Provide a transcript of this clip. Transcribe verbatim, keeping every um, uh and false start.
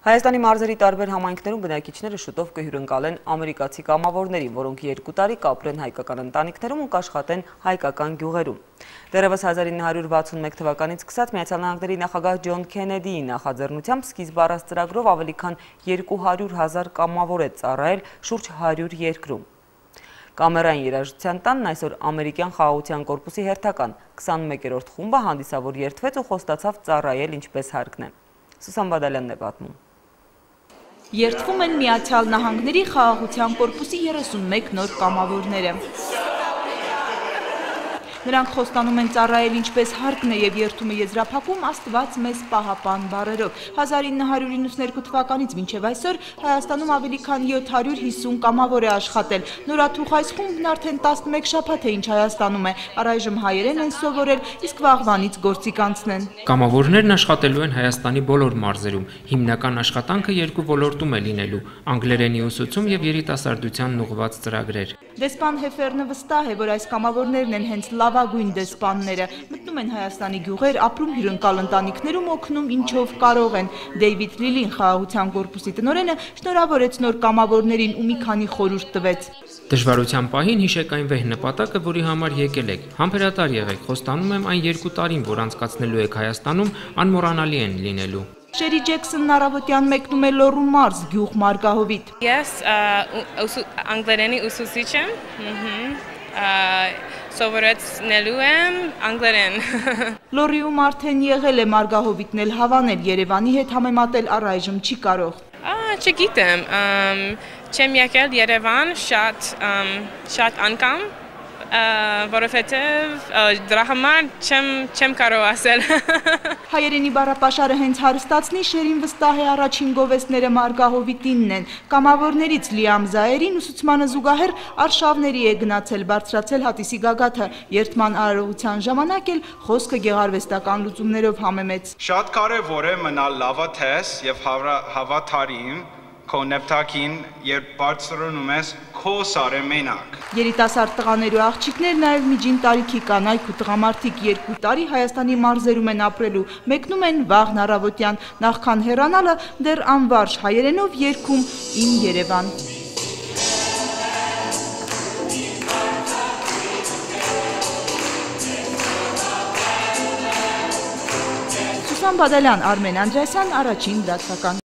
Հայաստանի մարզերի տարբեր համայնքներում բնակիչները շուտով կհյուրընկալեն ամերիկացի կամավորներին, որոնք երկու տարի կապրեն հայկական ընտանիքներում ու կաշխատեն հայկական գյուղերում։ Դեռևս հազար ինը հարյուր վաթսունմեկ թվականից սկսած Միացյալ Նահանգների նախագահ Ջոն Քենեդիի նախաձեռնությամբ սկիզբ առած ծրագրով ավելի քան երկու հարյուր հազար կամավոր է ծառայել շուրջ հարյուր երկրում։ Կամերային երաժշտության տանն այսօր ամերիկյան խաղաղության կորպուսի հերթական քսանմեկերորդ խումբը հանդիսավոր երդվեց ու խոստացավ ծառայել ինչպես հարկն է։ Սուսան Բադալյանն է պատմում։ Երդվում են Միացյալ Նահանգների խաղաղության կորպուսի երեսունմեկ նոր կամավորները։ Նրանք խոստանում են ծառայել ինչպես հարկն է և երդումը եզրափակում Աստված մեզ պահապան բառերով։ հազար ինը հարյուր իննսունհինգ թվականից մինչև այսօր Հայաստանում ավելի քան յոթ հարյուր հիսուն կամավոր է աշխատել։ Նորաթուխ այս խումբն արդեն տասնմեկ շաբաթ է ինչ Հայաստանում է, առայժմ հայերեն են սովորել, իսկ վաղվանից գործի կանցնեն։ Կամավորներն աշխատելու են Հայաստանի բոլոր մարզերում։ Հիմնական աշխատանքը երկու ոլորտում է լինելու՝ անգլերենի ուսուցում և երիտասարդությանն ուղղված ծրագրեր։ Դեսպան Հեֆերնը վստահ է, որ այս կամավորներն են հենց լավագույն դեսպանները, մտնում են Հայաստանի գյուղեր, ապրում հյուրընկալ ընտանիքներում, օգնում ինչով կարող են։ Դեյվիդ Լիլին, խաղաղության կորպուսի տնօրենը, շնորհավորեց նոր կամավորներին ու մի քանի խորհուրդ տվեց։ Դժվարության պահին հիշեք այն վեհ նպատակը, որի համար եկել եք։ Համբերատար եղեք, խոստանում եմ այն երկու տարին, որ անցկացնելու եք Հայաստանում, անմոռանալի են լինելու։ Շերի Ջեքսոնն առավոտյան մեկնում է Լոռու մարզ, գյուղ Մարգահովիտ։ Ես անգլերենի ուսուցիչ եմ, սովորեցնելու եմ անգլերեն։ Լոռիում արդեն եղել է Մարգահովիտն էլ հավանել, Երևանի հետ համեմատել առայժմ չի կարող։ Չգիտեմ, չեմ եկել Երևան շատ անգամ, որովհետև դրա համար չեմ կարող ասել։ Հայերենի բառապաշարը հենց հարստացնի, Շերին վստահ է առաջին գովեստները Մարգահովիտինն են։ Կամավորներից Լիամ Զայերին ուսուցմանը զուգահեռ արշավների է գնացել, բարձրացել հատիսի գագաթը։ Երդման արարողության ժամանակ էլ խոսքը գեղարվեստական լուծումներով համեմեց։ Շատ կարևոր է մնալ լավատես և հավատարիմ քո նպատակին, երբ բարձրանում ես քո սարը մենակ։ Երիտասարդ տղաներ ու աղջիկներ, նաև միջին տարիքի կանայք ու տղամարդիկ երկու տարի Հայաստանի մարզերում են ապրելու, մեկնում են վաղն առավոտյան, նախքան հեռանալը դեռ անվարժ հայերենով երգում Իմ Երևան։ Սուսան Բադալյան, Արմեն Անդրեասյան, Առաջին լրատվական։